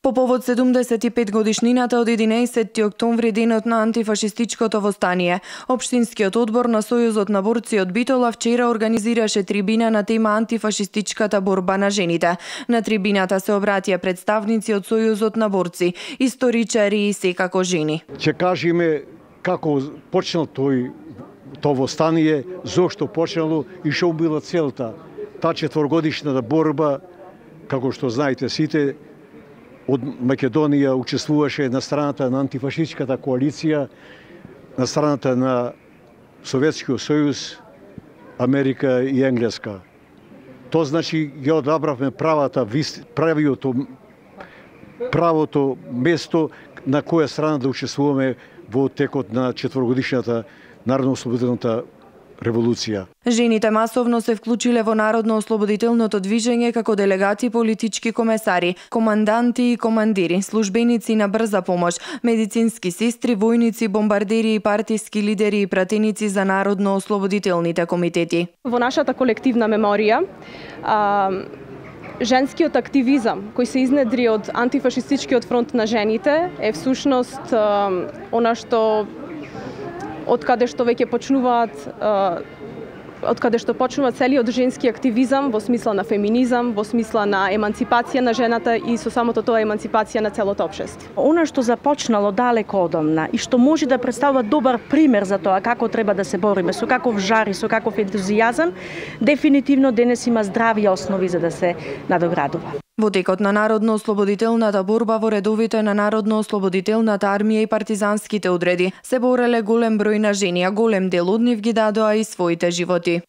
По повод 75 годишнината од 11 октомври, денот на антифашистичкото востание, Општинскиот одбор на Сојузот на борци од Битола вчера организираше трибина на тема антифашистичката борба на жените. На трибината се обратија представници од Сојузот на борци, историчари и секако жени. Ќе кажеме како почнал тоа востание, зошто почнало и што била целта. Таа четворгодишната борба, како што знаете сите, од Македонија учествуваше на страната на антифашистичката коалиција, на страната на Советскиот сојуз, Америка и Енглеска. Тоа значи ја одабравме правото место на која страна да учествуваме во текот на четворгодишната народно-ослободителната револуција. Жените масовно се вклучиле во народно-ослободителното движење како делегати, политички комесари, команданти и командири, службеници на брза помош, медицински сестри, војници, бомбардери и партиски лидери и пратеници за народно-ослободителните комитети. Во нашата колективна меморија, женскиот активизам кој се изнедри од антифашистичкиот фронт на жените е всушност она што од каде што почнува целиот женски активизам во смисла на феминизам, во смисла на еманципација на жената и со самото тоа еманципација на целото општество. Она што започнало далеко одамна и што може да представува добар пример за тоа како треба да се бориме, со каков жар и со каков ентузијазам, дефинитивно денес има здрави основи за да се надоградува. Во текот на народно-ослободителната борба во редовите на народно-ослободителната армија и партизанските одреди се бореле голем број на жени, а голем дел од нив ги дадоа и своите животи.